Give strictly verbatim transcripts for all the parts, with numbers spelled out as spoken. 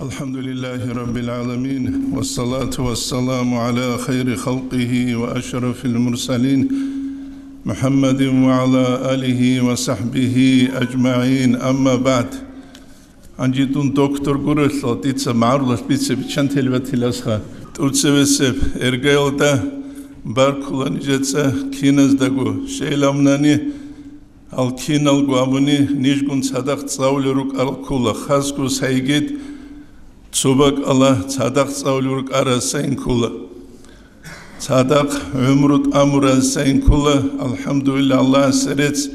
الحمد لله رب العالمين، والصلاة والسلام على خير خلقه وأشرف المرسلين، محمد وعلى آله وصحبه أجمعين. أما بعد. Гьанже дун доктор гурелъул, дица магӀарулалъ бице биччан телбатиласха. ТӀуцевесеб эргаялда баркула нижеца киназдаго. Щайилавнани, гьал киналго абуни, нижгун цадахъ цӀалулел рукӀарал ккола, хасго сайгид цо бакӀалда цадахъ цӀалулел рукӀарал сайин ккола. Цадахъ гӀумру тӀамурал сайин ккола, алхӀамдулиллагь, Аллагьасе рецц,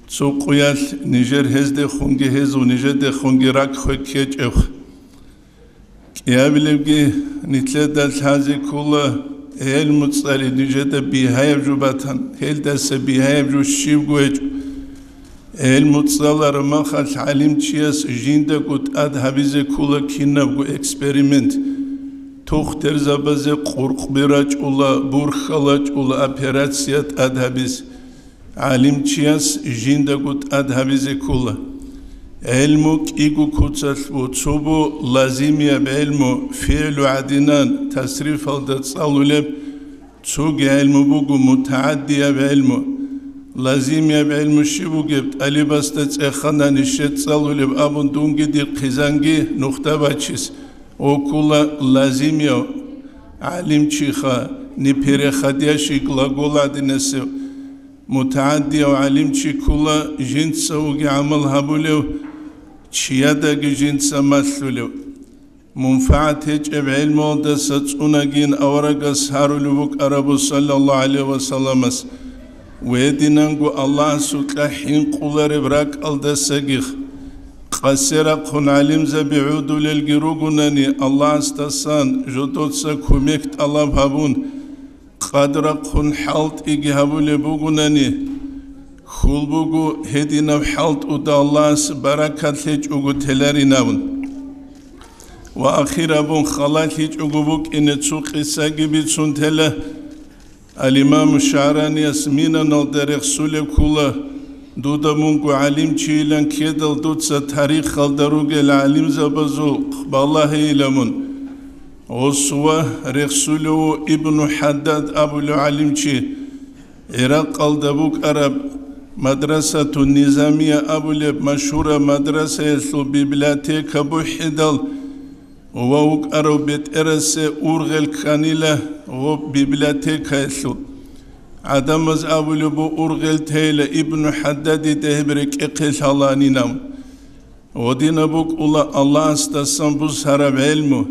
цо къуялъ нижер гьездехунги, гьезул нижедехунги ракӀ хвеккечӀеб. КӀиабилебги нилъеда лъазе ккола, гӀелму цӀали нижеда бигьаяб жо батан, гьелдаса бигьаяб жо щибго гьечӀо. ГӀелму цӀалараб махалъ гӀалимчияс жиндаго тӀад гьабизе ккола кинабго эксперимент. Тухтерзабазе къуркъби рачӀула, бурхьал рачӀула операция тӀад гьабизе. ГӀалимчияс жиндаго тӀад гьабизе ккола. ГӀелму кӀиго куцалъ бу, цо бу лазимияб гӀелму, фигӀлу гӀадинан тасрифалда цӀалулеб, цоги гӀелму буго мутагӀаддияб гӀелму. Лазимияб гӀелму щиб бугеб, тӀалибасда цӀехана нижер цӀалулеб абун дунги дир хъизанги нухда бачизе. Гьуккула лазимияв гӀалимчиха, непереходящий глагол гӀадинасев. МутагӀаддияв гӀалимчи ккола жинца вуги гӀамал гьабулев, чиядаги жинца малъулев. МунфагӀат гьечӀеб гӀелмуялдаса цӀунагин аварагас гьарулев вукӀарабу, саллаллагьу гӀалайгьи ва салламас, гьединанго Аллагьасукьа хӀинкъулареб ракӀалдасагих. Къасе рахъун гӀалимзаби гӀодулелги ругунани, Аллагьасдасан жодоца кумек тӀалаб гьабун, къадрахъун хӀалтӀиги гьабулеб бугунани, хьул буго гьединаб хӀалтӀуда Аллагьас баракат лъечӀого теларин абун. Ва ахир абун халалъичӀого букӀине цо къисаги бицун тела. Ал-Имаму ШагӀранияс Минаналда рехсулеб ккола: «Дуда мунго гӀалимчийилан ккедал, дуца тарихалда ругел гӀалимзабазул балагьейила мун». Гъосува рехсулев ву Ибну ХӀаддад абулев гӀалимчи, ГӀиракъалда букӀараб Мадрасатун Низамия абулеб машгьураб мадрасаялъул библиотека бухӀидал, ва вукӀарав бетӀерасе ургъел кканила гъоб библиотекаялъул. ГӀадамаз абулеб бу ургъел тейла Ибну ХӀаддадида гьеб рекӀехъе лъаланинав. Гъодинаб букӀула Аллагьасдасан бусараб гӀелму.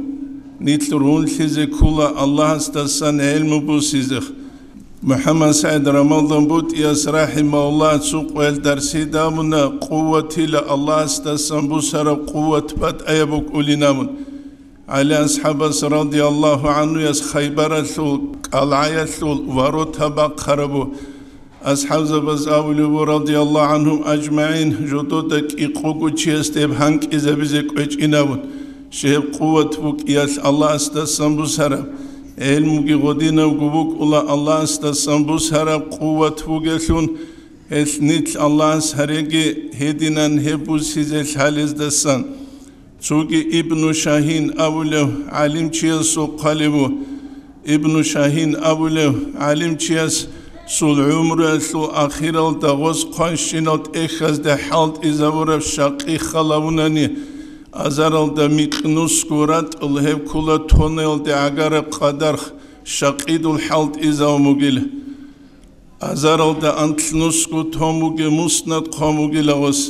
Нилъ рунлъизе ккула Аллагьасдасан гӀелму бусизе. МухӀаммад СагӀид Рамалдан БутӀияс, рахӀимагьуллагь, цо къоялъ дарсида абуна, къуватила Аллагьасдасан бусараб къуват батӀаяб букӀулин абун. ГӀали асхӀабас, радияллагьу гӀанхуяс, Хайбаралъул кӀалгӀаялъул ворота бахъарабу. АсхӀабзабаз абулеб бу, радияллагьу гӀанхум ажмагӀин, жодода кӀикъого чиясда гьеб гьанкӀизабизе кӀвечӀин абун, щай гьеб къуват букӀиялъ Аллагьасдасан бусараб. ГӀелмуги гъодинабго букӀула Аллагьасдасан бусараб къуват бугелъун, гьелъ нилъ Аллагьас гьареги гьединан гьеб бусизе лъалездасан. Цоги Ибну Шагьин абулев гӀалимчиясул хъвалеб бу. Ибну Шагьин абулев гӀалимчиясул гӀумруялъул ахиралда гъос хъванщинал тӀехьазде хӀалтӀизабураб щакъи халавунани, азаралда микьнусго ратӀал гьеб ккула тонаялде гӀагараб къадар щакъидул хӀалтӀизавун бугила. Азаралда анлънусго томуги муснад хъван бугила гъос.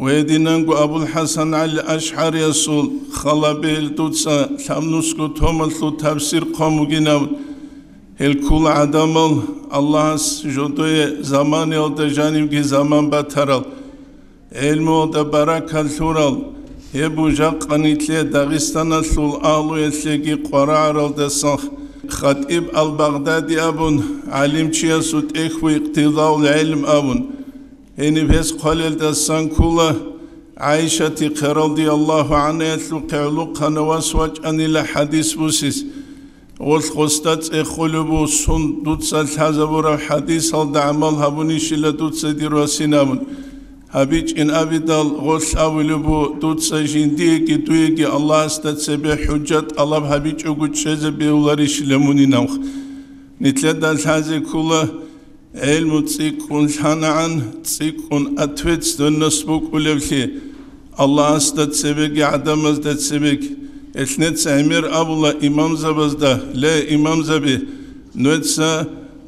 Гьединанго АбулхӀасан ГӀали АшгӀариясул халабел дуца лъабнусго томалъул тавсир хъван бугинав. Гьел ккула гӀадамал Аллагьас жодое заманиялда жанивги заман батарал, гӀелмуялда баракат лъурал, гьеб бу жакъа нилъе Дагъистаналъул агьлуялъеги къварагӀаралдасан. ХатӀиб ал-Багъдади абун гӀалимчиясул тӀехь ву, Икътидаул гӀелм абун. Гьениб гьес хъвалелдасан ккула ГӀайшатихъе, радияллагьу гӀанхаялъухъе гӀолохъанав вас вачӀанила хӀадис бусиз. Гъолъ гъосда цӀехолеб бу, сун дуца лъазабураб хӀадисалда гӀамал гьабунищила дуца дир васин абун. абичӀин абидал гъолъ абулеб бу, дуца жиндиеги дуеги Аллагьасда цебе хӀужжат тӀалаб гьабичӀого чӀезе бегьуларищила мунин абухъ. Нилъеда лъазе ккола, гӀелму цӀикӀкӀун лъанагӀан, цӀикӀкӀун ответственность букӀулевлъи, Аллагьасда цебеги гӀадамазда цебеги. Гьелъ неца гӀемер абула имамзабазда: «Ле, имамзаби, нуеца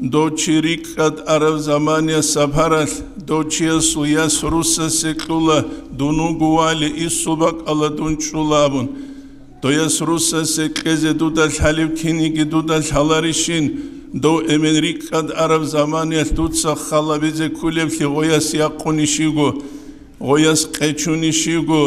дов чи рикӀкӀад араб замания сапаралъ, дов чиясул яс руссасе кьула, дун вуго вали, исул бакӀалда дун чӀула», – абун. Дов яс руссасе кьезе дуда лъалеб киниги дуда лъаларищин, дов эмен рикӀкӀад араб заманиялъ дуца халабизе кколеблъи гъояс якъунищиго, гъояс къечунищиго,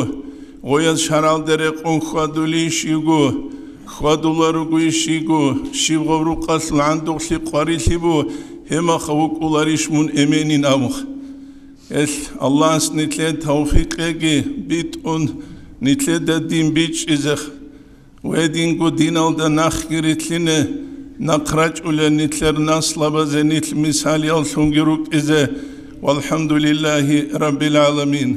гъояс шаргӀалде рекъон хьвадулищиго, хьвадуларугойищиго, щиб гъаб рукъалъул гӀандухълъи къварилъи бу, гьемаха вукӀуларищ мун эменин абухъ. Гьелъ Аллагьас нилъее тавфикъ кьеги битӀун, нилъеда дин бичӀчӀизе, гьединго диналда нахги рилълъине нахъ рачӀулел нилъер наслабазе нилъ мисалияллъунги рукӀизе. ВалхӀамдулиллагьи раббил гӀаламин.